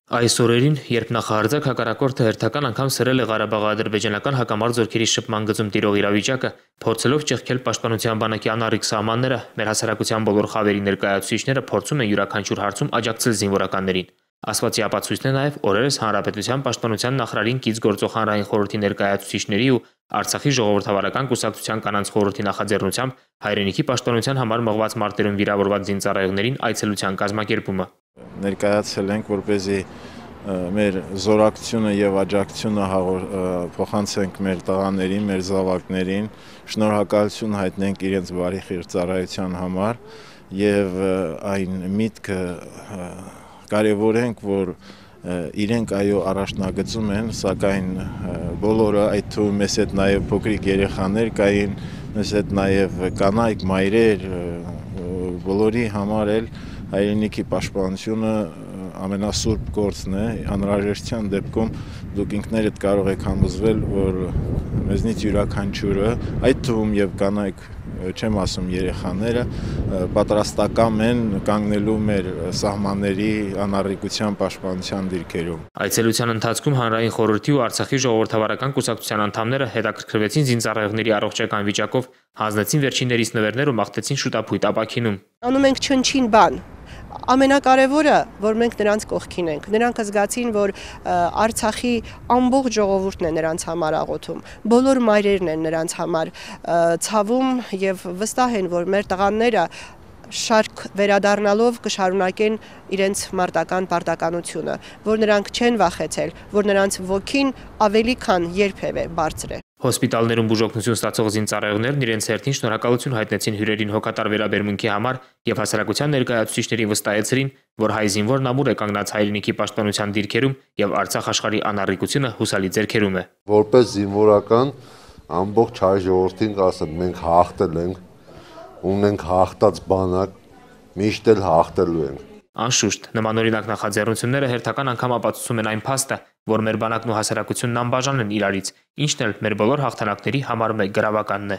Այս օրերին, երբ նախահարձակ հակառակորդը հերթական անգամ սրել է Ղարաբաղ-ադրբեջանական հակամարտ զորքերի շփման գծում տիրող իրավիճակը, փորձելով ճեղքել պաշտպանության բանակի անառիկ սահմանները, մեր հասարակության բոլոր խավերի ներկայացուցիչները փորձում են յուրաքանչյուր հարցում աջակցել զինվորականներին։ Ասվածի ապացույցն է նաև օրերս Հանրապետության պաշտպանության նախարարին կից գործող հանրային խորհրդի ներկայացուցիչների ու Արցախի ժողովրդավարական կուսակցության կանանց խորհրդի նախաձեռնությամբ հայրենիքի պաշտպանության համար մղված մարտերում վիրավորված զինծառայողներին այցելության կազմակերպումը։ Ներկայացել ենք, որպեսզի մեր զորակցությունը եւ աջակցությունը փոխանցենք մեր տղաներին, մեր զավակներին, շնորհակալություն հայտնենք իրենց բարի խիղճ ծառայության համար եւ այն միտքը կարևորենք, որ իրենք այո առաջնագծում են, սակայն բոլորը, այդ թվում մեզ հետ նաև փոքրիկ երեխաներ կային, մեզ հետ նաև կանայք, մայրեր, բոլորի համար էլ հայրենիքի պաշտպանությունը ամենասուրբ գործն է, անհրաժեշտության դեպքում դուք ինքներդ կարող եք համոզվել, որ մեզնից յուրաքանչյուրը, այդ թվում եւ կանայք, չեմ ասում երեխաները, պատրաստական են կանգնելու մեր սահմանների անառիկության պաշտպանության դիրքերում։ Այցելության ընթացքում հանրային խորհրդի ու Արցախի ժողովրդավարական կուսակցության անդամները հետաքրքրվեցին զինծառայողների առողջական վիճակով, հանձնեցին վերջիններիս նվերներ ու մաղթեցին շուտապույտ ապաքինում։ Անում ենք չնչին բան։ Ամենակարևորը, որ մենք նրանց կողքին ենք, նրանք զգացին, որ Արցախի ամբողջ ժողովուրդն է նրանց համար աղոթում, բոլոր մայրերն են նրանց համար ցավում եւ վստահ են, որ մեր տղաները շարք վերադառնալով կշարունակեն իրենց մարտական պարտականությունը, որ նրանք չեն վախեցել, որ նրանց ոգին ավելի քան երբևէ բարձր է։ Հոսպիտալներում բուժօգնություն ստացող զինծառայողներն իրենց հերթին շնորհակալություն հայտնեցին հյուրերին հոգատար վերաբերմունքի համար եւ հասարակության ներկայացուցիչներին վստահեցրին, որ հայ զինվորն ամուր է կանգնած հայրենիքի պաշտպանության դիրքերում եւ Արցախ աշխարհի անառիկությունը հուսալի ձեռքերում է։ Որպես զինվորական ամբողջ հայ ժողովրդին կասեմ, մենք հաղթել ենք, ունենք հաղթած բանակ, միշտ էլ հաղթելու ենք։ Անշուշտ, նմանօրինակ նախաձեռնությունները հերթական անգամ ապացուցում են այն փաստը, որ մեր բանակն ու հասարակությունն անբաժան են իրարից, ինչն էլ մեր բոլոր հաղթանակների համար մեկ գրավականն է։